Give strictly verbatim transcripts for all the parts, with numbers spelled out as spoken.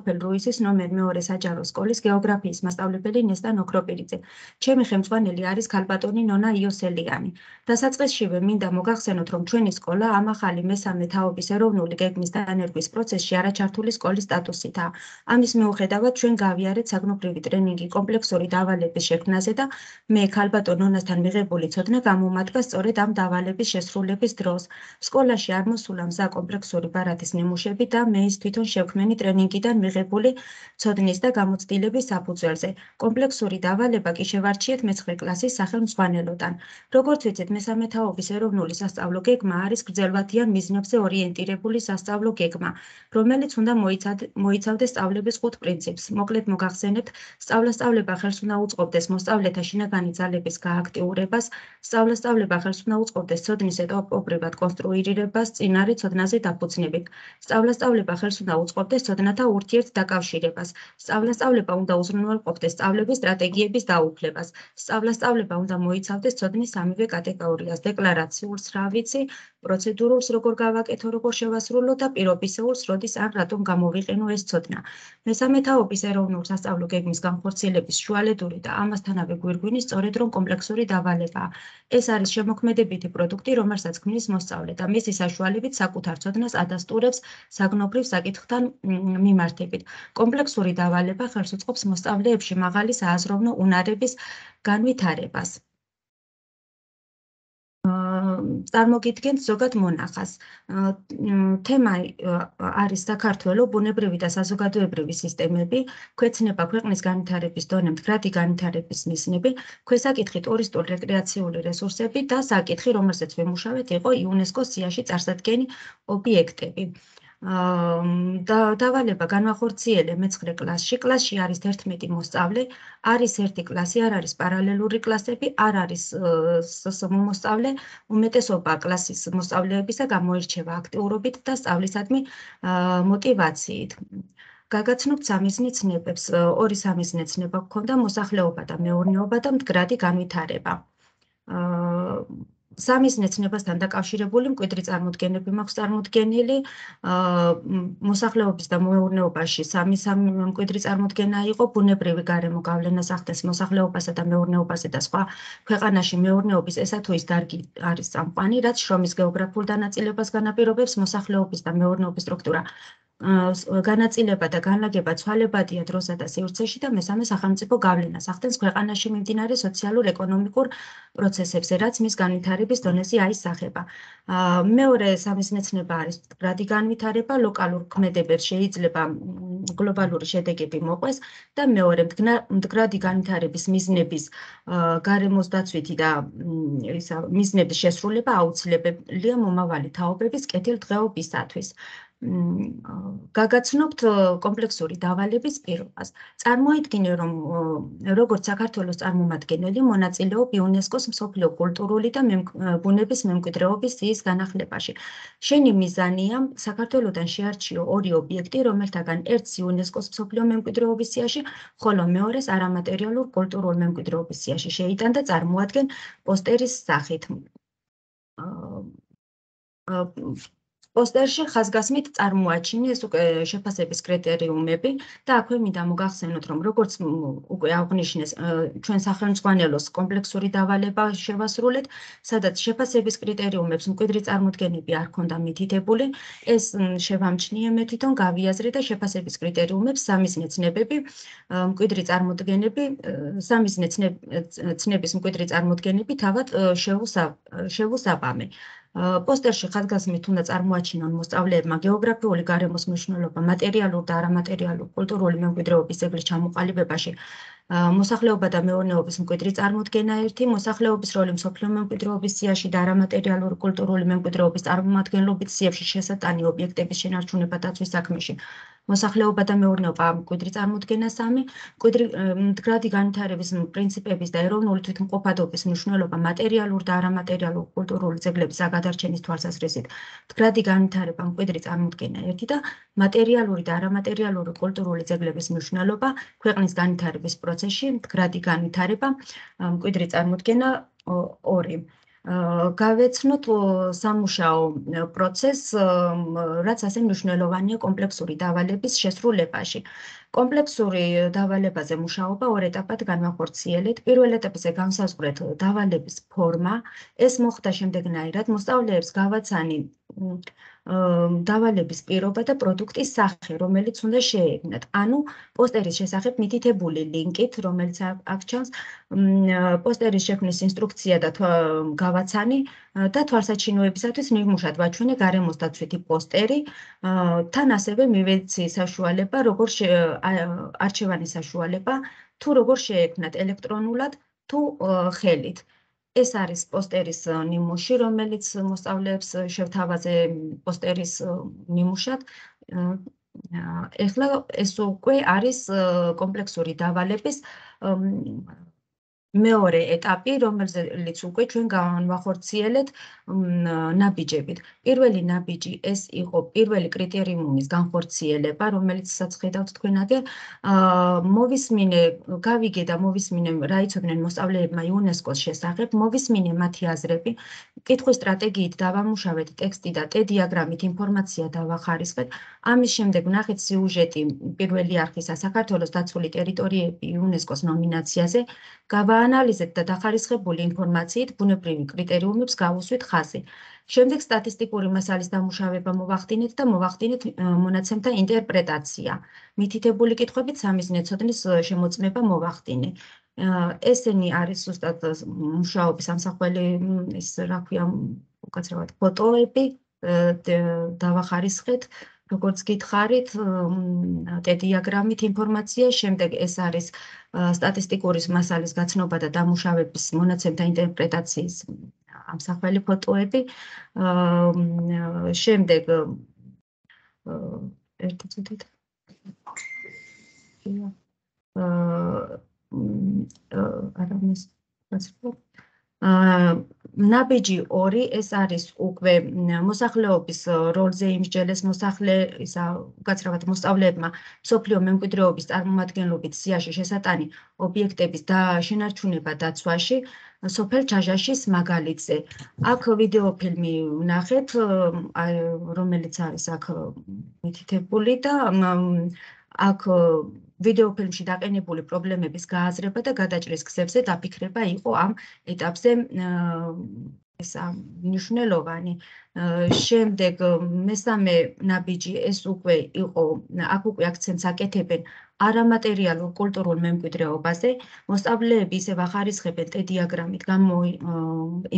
სოფელ რუისის ნომერ მეორე საჯარო სკოლის გეოგრაფიის მასწავლებელი ნესტან ოქროპირიძე. ჩემი ხელმძღვანელი არის ქალბატონი ნონა იოსელიანი. დასაწყისშივე მინდა მოგახსენოთ, რომ ჩვენი სკოლა ამ ახალი მესამე თაობის ეროვნული გეგმის დანერგვის პროცესში არაჩართული სკოლის სტატუსითაა. ამის მიუხედავად ჩვენ გავიარეთ საგნობრივი ტრენინგი კომპლექსური დავალების შექმნაზე და მე ქალბატონ ნონასთან მიღებული ცოდნა გამომადგა სწორედ ამ დავალების შესრულების დროს. სკოლაში არ მოსულა მზა კომპლექსური ბარათის ნიმუშები და მე ის თვითონ შევქმენი ტრენინგიდან მიღებული ცოდნის და გამოცდილების საფუძველზე. კომპლექსური დავალება კი შევარჩიეთ მეცხრე კლასის სახელმძღვანელოდან. როგორც ვიცით, მესამე თაობის ეროვნული სასწავლო გეგმა არის გრძელვადიან მიზნებზე ორიენტირებული სასწავლო გეგმა, რომელიც უნდა მოიცავდეს სწავლების ხუთ პრინციპს. მოკლედ მოგახსენებთ, სწავლასწავლება ხელს უნდა უწყობდეს მოსწავლეთა შინაგანი ძალების გააქტიურებას, სწავლასწავლება ხელს უნდა უწყობდეს ცოდნის ეტაპობრივად კონსტრუირებას წინარე ცოდნაზე დაფუძნებით. სწავლასწავლება ხელს უნდა უწყობდეს ცოდნათა ურთიერთ დაკავშირებას. სწავლასწავლება უნდა უზრუნველყოფდეს სწავლების სტრატეგიების დაუფლებას. სწავლასწავლება უნდა მოიცავდეს ცოდნის სამივე კატეგორიას: დეკლარაციულს, რა ვიცი, პროცედურულს, როგორ გავაკეთო, როგორ შევასრულო და პირობისეულს, როდის ან რატომ გამოვიყენო ეს ცოდნა. მესამე თაობის ეროვნულ სასწავლო გეგმის განხორციელების შუალედური და ამასთანავე გვირგვინი სწორედ რომ კომპლექსური დავალებაა. ეს არის შემოქმედებითი პროდუქტი, რომელსაც ქმნის მოსწავლე და მისი საშუალებით საკუთარ ცოდნას ადასტურებს საგნობრივ საკითხთან მიმართებით. კომპლექსური დავალება ხელს უწყობს მოსწავლეებში მაღალი სააზროვნო უნარების განვითარებას. წარმოგიდგენთ ზოგად მონახას. თემა არის საქართველო, ბუნებრივი და საზოგადოებრივი სისტემები, ქვეცნება ქვეყნის განვითარების დონე, მდგრადი განვითარების მიზნები, ქვესაკითხი ტურისტული რეკრეაციული რესურსები და საკითხი, რომელზეც ვიმუშავეთ, იყო იუნესკოს სიაში წარსადგენი ობიექტები. დავალება განვახორციელე მეცხრე კლასში. კლასში არის თერთმეტი მოსწავლე, არის ერთი კლასი, არ არის პარალელური კლასები, არ არის სსმ მოსწავლე, უმეტესობა კლასის მოსწავლეებისა გამოირჩევა აქტიურობით და სწავლისადმი მოტივაციით. გაგაცნობთ სამიზნე ცნებებს. ორი სამიზნე ცნება გვქონდა: მოსახლეობა და მეურნეობა და მდგრადი განვითარება. სამიზნე ცნებასთან დაკავშირებული მკვიდრი წარმოდგენები მაქვს წარმოდგენილი. მოსახლეობის და მეურნეობაში სამი სამი მკვიდრი წარმოდგენა იყო: ბუნებრივი გარემო გავლენას ახდენს მოსახლეობასა და მეურნეობაზე და სხვა ქვეყანაში მეურნეობის ესა თუ ის დარგი არის წამყვანი, რაც შრომის გეოგრაფიულ დანაწილებას განაპირობებს. მოსახლეობის და მეურნეობის სტრუქტურა განაწილება და განლაგება ცვალებადია დროსა და სივრცეში და მესამე სახელმწიფო გავლენას ახდენს ქვეყანაში მიმდინარე სოციალურ-ეკონომიკურ პროცესებზე, რაც მის განვითარების დონეზე აისახება. მეორე სამიზნე ცნება არის მდგრადი განვითარება. ლოკალურ ქმედებებს შეიძლება გლობალური შედეგები მოყვეს და მეორე მდგრადი განვითარების მიზნების გარემოს დაცვითი და მიზნების შესრულება აუცილებელია მომავალი თაობების კეთილდღეობისათვის. გაგაცნობთ კომპლექსური დავალების პირობას. წარმოიდგინე, რომ როგორც საქართველოს წარმომადგენელი მონაწილეობ იუნესკოს მსოფლიო კულტურული და ბუნების მემკვიდრეობის სიის განახლებაში. შენი მიზანია საქართველოდან შეარჩიო ორი ობიექტი, რომელთაგან ერთს იუნესკოს მსოფლიო მემკვიდრეობის სიაში, ხოლო მეორეს არამატერიალურ კულტურულ მემკვიდრეობის სიაში შეიტან და წარმოადგენ პოსტერის სახით. პოსტერში ხაზგასმით წარმოაჩინე ეს უკვე შეფასების კრიტერიუმები და აქვე მინდა მოგახსენოთ, რომ როგორც უკვე აღვნიშნეს, ჩვენ სახელმძღვანელოს კომპლექსური დავალება შევასრულეთ, სადაც შეფასების კრიტერიუმებს მკვიდრი წარმოდგენები არ ქონდა მითითებული. ეს შევამჩნიე მე თვითონ, გავიაზრე და შეფასების კრიტერიუმებს სამიზნე ცნებები, მკვიდრი წარმოდგენები, სამიზნე ცნების მკვიდრი წარმოდგენები თავად შევუსაბამე. პოსტერში ხაზგასმით უნდა წარმოაჩინონ მოსწავლეებმა გეოგრაფიული გარემოს მნიშვნელობა მატერიალურ და არამატერიალურ კულტურული მემკვიდრეობის ძეგლის ჩამოყალიბებაში, მოსახლეობა და მეურნეობის მკვიდრი წარმოდგენა ერთი, მოსახლეობის როლი მსოფლიო მემკვიდრეობის სიაში და არამატერიალური კულტურული მემკვიდრეობის წარმომადგენლობით სიებში შესატანი ობიექტების შენარჩუნება დაცვის საქმეში, მოსახლეობა და მეურნეობა მკვიდრი წარმოდგენა სამი, მდგრადი განვითარების პრინციპების და ეროვნული თვითმყოფადობის მნიშვნელობა მატერიალურ და არამატერიალურ კულტურული ძეგლების გადარჩენის თვალსაზრისით, მდგრადი განვითარება მკვიდრი წარმოდგენა ერთი და მატერიალური და არამატერიალური კულტურული ძეგლების მნიშვნელობა ქვეყნის განვითარების პროცესში, მდგრადი განვითარება მკვიდრი წარმოდგენა ორი. გავეცნოთ სამუშაო პროცესს, რაც ასე მნიშვნელოვანია კომპლექსური დავალების შესრულებაში. კომპლექსური დავალებაზე მუშაობა ორ ეტაპად განვახორციელეთ. პირველ ეტაპზე განსაზღვრეთ დავალების ფორმა. ეს მოხდა შემდეგნაირად: მოსწავლეებს გავაცანი დავალების პირობა და პროდუქტის სახე, რომელიც უნდა შეექმნათ. ანუ პოსტერის შესახებ მითითებული ლინკით, რომელიც აქ ჩანს, პოსტერის შექმნის ინსტრუქცია და გავაცანი და თვალსაჩინოებისათვის ნიმუშად ვაჩვენე გარემოსდაცვითი პოსტერი, თან ასევე მივეცი საშუალება, როგორ არჩევანის საშუალება, თუ როგორ შეექმნათ ელექტრონულად თუ ხელით. ეს არის პოსტერის ნიმუში, რომელიც მოსწავლეებს შევთავაზე პოსტერის ნიმუშად. ეხლა ეს უკვე არის კომპლექსური დავალების მეორე ეტაპი, რომელზეც უკვე ჩვენ განვახორციელეთ ნაბიჯებით. პირველი ნაბიჯი ეს იყო პირველი კრიტერიუმის განხორციელება, რომელიცაც ხედავთ თქვენ აგერ. მოვისმინე, გავიგე და მოვისმინე რა იცოდნენ მოსწავლეებმა იუნესკოს შესახებ, მოვისმინე მათი აზრები, კითხვის სტრატეგიით დავამუშავეთ ტექსტი და ტე დიაგრამით ინფორმაცია დავახარისხეთ. ამის შემდეგ ვნახეთ სიუჟეტი პირველი არხისა საქართველოს დაცული ტერიტორიები იუნესკოს ნომინაციაზე. გავაანალიზეთ და დახარისხებული ინფორმაციით ბუნებრივი კრიტერიუმებს გავუსვით ხაზი. შემდეგ სტატისტიკური მასალის დამუშავება მოვახდინეთ და მოვახდინეთ მონაცემთა ინტერპრეტაცია. მითითებული კითხვებით სამიზნე ცოდნის შემოწმება მოვახდინე. ესენი არის ზუსტად მუშაობის ამსახველი, ის რა ქვია, უკაცრავად ფოტოები დავახარისხეთ. როგორც გითხარით, ტე დიაგრამით ინფორმაცია, შემდეგ ეს არის სტატისტიკური მასალის გაცნობა და დამუშავების მონაცემთა ინტერპრეტაციის ამსახველი ფოტოები. შემდეგ ერთი წუთით. არამის ნაბიჯი ორი, ეს არის უკვე მოსახლეობის როლზე იმსჯელეს მოსახლე, ისა უკაცრავად მოსწავლეებმა მსოფლიო მემკვიდრეობის წარმომადგენლობით სიაში შესატანი ობიექტების შენარჩუნება დაცვაში, სოფელ ჩაჟაშის მაგალითზე. აქ ვიდეოფილმი ვნახეთ, რომელიც არის აქ მითითებული და აქ ვიდეოფილმში დაყენებული პრობლემების გააზრება და გადაჭრის გზებზე დაფიქრება იყო ამ ეტაპზე ესა მნიშვნელოვანი. შემდეგ მესამე ნაბიჯი ეს უკვე იყო, აქ უკვე აქცენტს აკეთებენ არამატერიალურ კულტურულ მემკვიდრეობაზე. მოსწავლეები ისევ ახარისხებენ ტე დიაგრამით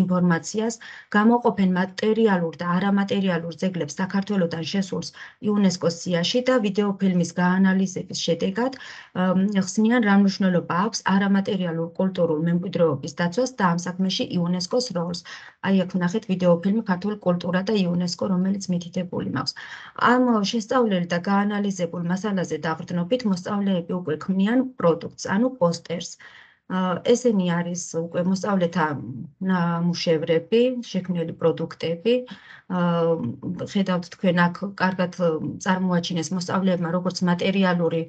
ინფორმაციას, გამოყოფენ მატერიალურ და არამატერიალურ ძეგლებს საქართველოდან შესულს იუნესკოს სიაში და ვიდეოფილმის გაანალიზების შედეგად ხსნიან რა მნიშვნელობა აქვს არამატერიალურ კულტურულ მემკვიდრეობის დაცვას და ამ საქმეში იუნესკოს როლს. აი აქ ვნახეთ ვიდეოფილმი ქართული კულტურა და იუნესკო, რომელიც მითითებული მაქვს. ამ შესწავლილ და გაანალიზებულ მასალაზე დაყრდნობით მოსწავლეები უკვე ქმნიან პროდუქტს, ანუ პოსტერს. ესენი არის უკვე მოსწავლეთა ნამუშევრები, შექმნილი პროდუქტები. ხედავთ თქვენ აქ კარგად წარმოაჩინეს მოსწავლეებმა როგორც მატერიალური,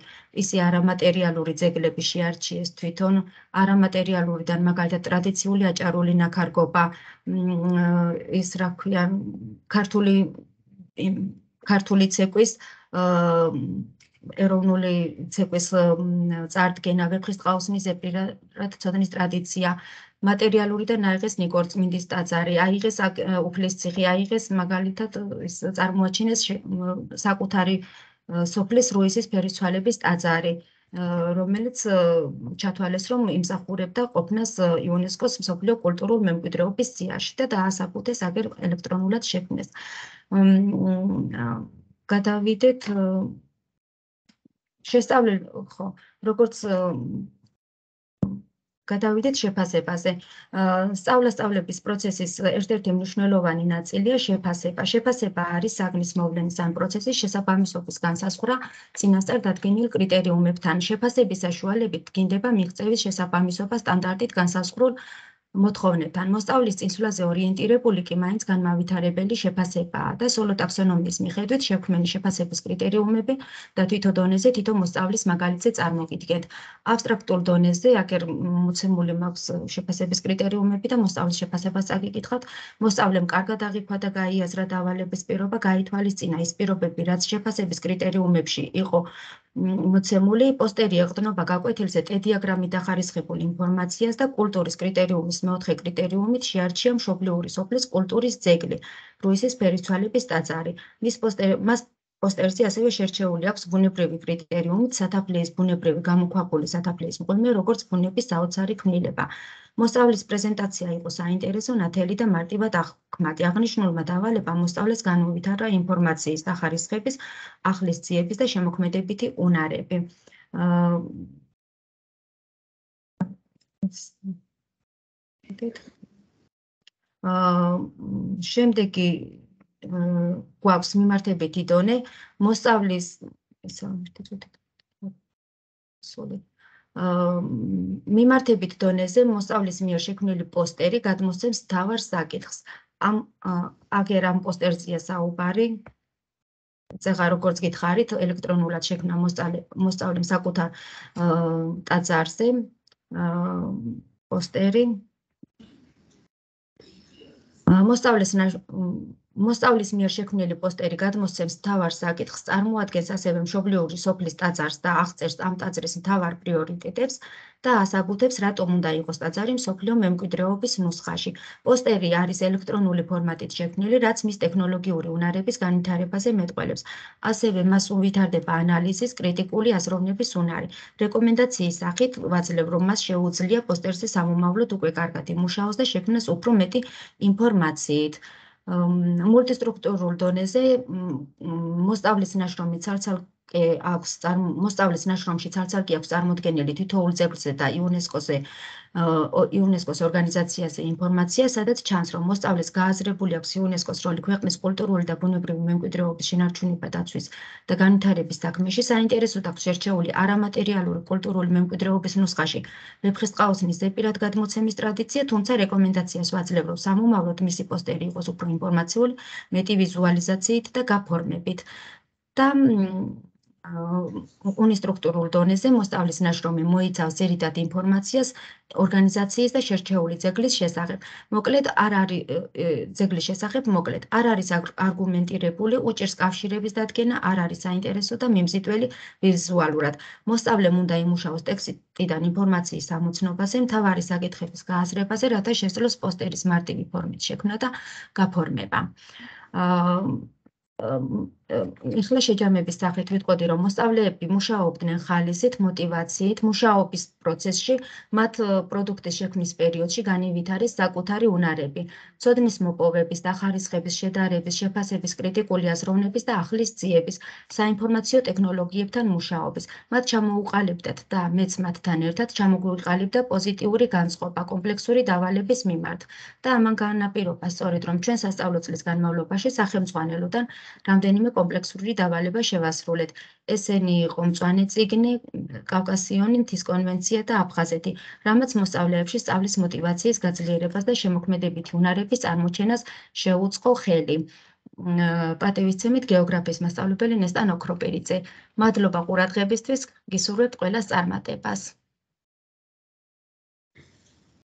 ისე არამატერიალური ძეგლები შეარჩიეს თვითონ. არამატერიალურიდან მაგალითად ტრადიციული აჭარული ნაქარგობა, ის რა ქვია, ქართული ქართული ცეკვის ეროვნული ცეკვის წარდგენა, ვეფხისტყაოსნის ზეპირად ცოდნის ტრადიცია, მატერიალურიდან აიღეს ნიკორწმინდის ტაძარი, აიღეს უფლისციხე, აიღეს მაგალითად ის წარმოაჩინეს საკუთარი სოფლის რუისის ფერისცვალების ტაძარი, რომელიც ჩათვალეს, რომ იმსახურებდა ყოფნას იუნესკოს მსოფლიო კულტურულ მემკვიდრეობის სიაში და დაასაბუთეს აგერ ელექტრონულად შექმნეს. გადავიდეთ შესწავლილ, ხო, როგორც გადავიდეთ შეფასებაზე. სწავლა-სწავლების პროცესის ერთ-ერთი მნიშვნელოვანი ნაწილია შეფასება. შეფასება არის საგნის მოვლენის ან პროცესის შესაბამისობის განსაზღვრა წინასწარ დადგენილ კრიტერიუმებთან. შეფასების საშუალებით დგინდება მიღწევის შესაბამისობა სტანდარტით განსაზღვრულ მოთხოვნებთან. მოსწავლის წინსვლაზე ორიენტირებული კი მაინც განმავითარებელი შეფასებაა და სოლო ტაქსონომიის მიხედვით შექმნილი შეფასების კრიტერიუმები და თვითო დონეზე თითო მოსწავლის მაგალითზე წარმოგიდგენთ. აბსტრაქტულ დონეზე აქ მოცემული მაქვს შეფასების კრიტერიუმები და მოსწავლის შეფასებას წაგიკითხავთ. მოსწავლემ კარგად აღიქვა და გაიაზრა დავალების პირობა, გაითვალისწინა ის პირობები, რაც შეფასების კრიტერიუმებში იყო მოცემული, პოსტერი ეყრდნობა გაკვეთილზე ტედიაგრამით დახარისხებულ ინფორმაციას და კულტურის კრიტერიუმის მეოთხე კრიტერიუმით შეარჩია მშობლიური სოფლის კულტურის ძეგლი, რუისის ფერისცვალების ტაძარი. მის მას პოსტერზე ასევე შერჩეული აქვს ბუნებრივი კრიტერიუმით სათაფლიის ბუნებრივი გამოქვაბული სათაფლიის მღვიმე, როგორც ბუნების საოცარი ქმნილება. მოსწავლის პრეზენტაცია იყო საინტერესო, ნათელი და მარტივად აღქმადი. აღნიშნულმა დავალებამ მოსწავლეს განუვითარა ინფორმაციის დახარისხების, ახლის ძიების და შემოქმედებითი უნარები. შემდეგი გვაქვს მიმართებითი დონე, მოსწავლის მიმართებით დონეზე მოსწავლის მიერ შექმნილი პოსტერი გადმოსცემს მთავარ საკითხს. აგერ ამ პოსტერზეა საუბარი. წეღა როგორც გითხარით, ელექტრონულად შექმნა მოსწავლემ საკუთარ ტაძარზე პოსტერი. მოსწავლის მიერ შექმნილი პოსტერი გადმოსცემს მთავარ საკითხს, წარმოადგენს ასევე მშობლიური სოფლის ტაძარს და აღწერს ამ ტაძრის მთავარ პრიორიტეტებს და ასაბუთებს, რატომ უნდა იყოს ტაძარი მსოფლიო მემკვიდრეობის ნუსხაში. პოსტერი არის ელექტრონული ფორმატით შექმნილი, რაც მის ტექნოლოგიური უნარების განვითარებაზე მეტყველებს. ასევე მას უვითარდება ანალიზის, კრიტიკული აზროვნების უნარი. რეკომენდაციის სახით ვაძლევ, რომ მას შეუძლია პოსტერზე სამომავლოდ უკვე კარგად იმუშაოს და შექმნას უფრო მეტი ინფორმაციით. მულტისტრუქტურულ დონეზე მოსწავლის ნაშრომი ცალ-ცალკე აქვს მოსწავლის ნაშრომში ცალ-ცალკე აქვს წარმოდგენილი თითოეულ ძეგლზე და იუნესკოზე იუნესკოს ორგანიზაციაზე ინფორმაცია, სადაც ჩანს, რომ მოსწავლეს გააზრებული აქვს იუნესკოს როლი ქვეყნის კულტურული და ბუნებრივი მემკვიდრეობის შენარჩუნება დაცვის და განვითარების საქმეში. საინტერესოდ აქვს შერჩეული არამატერიალური კულტურული მემკვიდრეობის ნუსხაში ვეფხისტყაოსნის ზეპირად გადმოცემის ტრადიცია, თუმცა რეკომენდაციას ვაძლევ, რომ სამომავლოდ მისი პოსტერი იყოს უფრო ინფორმაციული, მეტი ვიზუალიზაციით და გაფორმებით. და უნისტრუქტურულ დონეზე მოსწავლის ნაშრომი მოიცავს ძირითად ინფორმაციას ორგანიზაციის და შერჩეული ძეგლის შესახებ. მოკლედ არ არის ძეგლის შესახებ, მოკლედ არ არის არგუმენტირებული, უჭირს კავშირების დადგენა, არ არის საინტერესო და მიმზიდველი ვიზუალურად. მოსწავლემ უნდა იმუშაოს ტექსტიდან ინფორმაციის ამოცნობაზე, მთავარი საკითხების გააზრებაზე, რათა შესძლოს პოსტერის მარტივი ფორმით შექმნა და გაფორმება. ეხლა შეჯამების სახით ვიტყოდი, რომ მოსწავლეები მუშაობდნენ ხალისით, მოტივაციით, მუშაობის პროცესში, მათ პროდუქტის შექმნის პერიოდში განივითარეს საკუთარი უნარები, ცოდნის მოპოვების, დახარისხების, შედარების, შეფასების, კრიტიკული აზროვნების და ახლის ძიების, საინფორმაციო ტექნოლოგიებთან მუშაობის. მათ ჩამოუყალიბდათ და მეც მათთან ერთად ჩამოგვიყალიბდა პოზიტიური განწყობა კომპლექსური დავალების მიმართ. და ამან განაპირობა სწორედ, რომ ჩვენ სასწავლო წლის განმავლობაში სახელმძღვანელოდან რამდენიმე კომპლექსური დავალება შევასრულეთ. ესენი იყო მწვანე წიგნი, კავკასიონი, მთის კონვენცია და აფხაზეთი, რამაც მოსწავლეებში სწავლის მოტივაციის გაძლიერებას და შემოქმედებითი უნარების წარმოჩენას შეუწყო ხელი. პატივისცემით გეოგრაფიის მასწავლებელი ნესტან ოქროპერიძე. მადლობა ყურადღებისთვის, გისურვებთ ყველას წარმატებას.